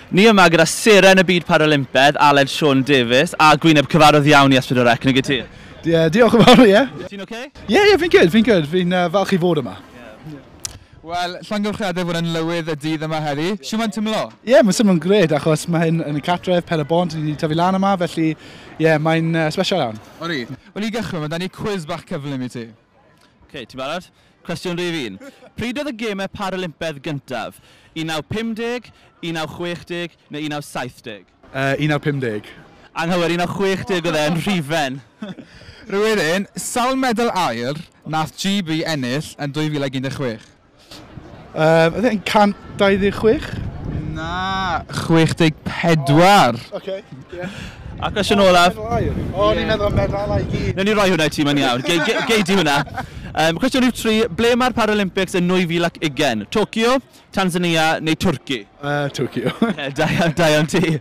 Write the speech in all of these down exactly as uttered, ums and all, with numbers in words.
Ni yma gyda seren y byd Paralympedd, Aled Siôn Davies, a gwyneb cyfarwydd iawn i S pedwar C, nag y ti? Ie, diolch yn fawr, ie. Ti'n oce? Ie, ie, fi'n good, fi'n good. Fi'n uh, falch i fod yma. Wel, llongyfarchiadau fod yn lywydd y dydd yma heddi. Shwt mae'n teimlo? Ie, yeah, mae'n symud yn gred, achos mae hyn yn y cartref, Pen y Bont, ni wedi tyfu lan yma, felly ie, yeah, mae'n uh, special iawn. Ori. Wel, i gychwyn, mae da ni quiz bach cyflym i ti. Oce, okay, ti'n barod? Cwestiwn rhif un. Pryd oedd y gemau Paralympedd gyntaf? un naw pum deg, un naw chwech deg neu un naw saith deg? Uh, un naw pum deg. Anghywir, un naw chwech deg oedd e yn Rhufain. Rhywun, sawl medal aur nath G B ennill yn dwy fil ag un deg chwech? Uh, oedd e'n cant dau ddeg chwech? Na, chwech deg pedwar. Oh, okay, yeah. A cwestiwn olaf. O, ni'n meddwl am medalau i gyd. Newn ni roi hwnna i ti, mae'n iawn. Gei, gei, gei di hwnna. Um, cwestiwn rhif tri, ble mae'r Paralympics yn nwy fil ac ugain? Tokyo, Tanzania neu Twrci? Uh, Tokyo. Ie, da iawn, da iawn ti.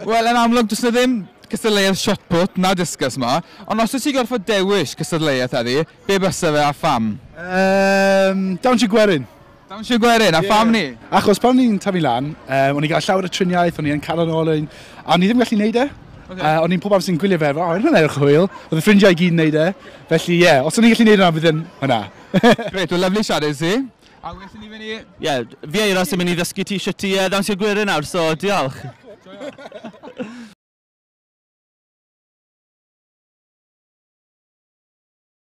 Wel, yn amlwg, does 'na ddim cystadleuaeth shot put na discus ma, ond os wyt ti'n gorfod dewis cystadleuaeth heddi, be bysa fe a pham? Um, Dawnsio gwerin. Dawnsio gwerin, a Ie. pham ni? Achos pan o'n i'n tyfu lan, um, o'n i'n gael llawer o triniaeth, o'n i'n cael yn ôl, a o'n i ddim yn gallu neud e. Ocê. Uh, o'n i'n pob amser yn gwylio fe, o, hwnna'n edrych hwyl. Oedd y ffrindiau i gyd yn neud e. Felly, ie, yeah, os o'n i'n gallu neud hwnna, bydd yn hwnna. Grêt, wel, lyfli siarad i ti. A welwn ni fynd i... Ie, yeah, fi a Euros yn mynd i ddysgu ti shwt i uh, ddawnsio gwerin nawr, so diolch. Joio.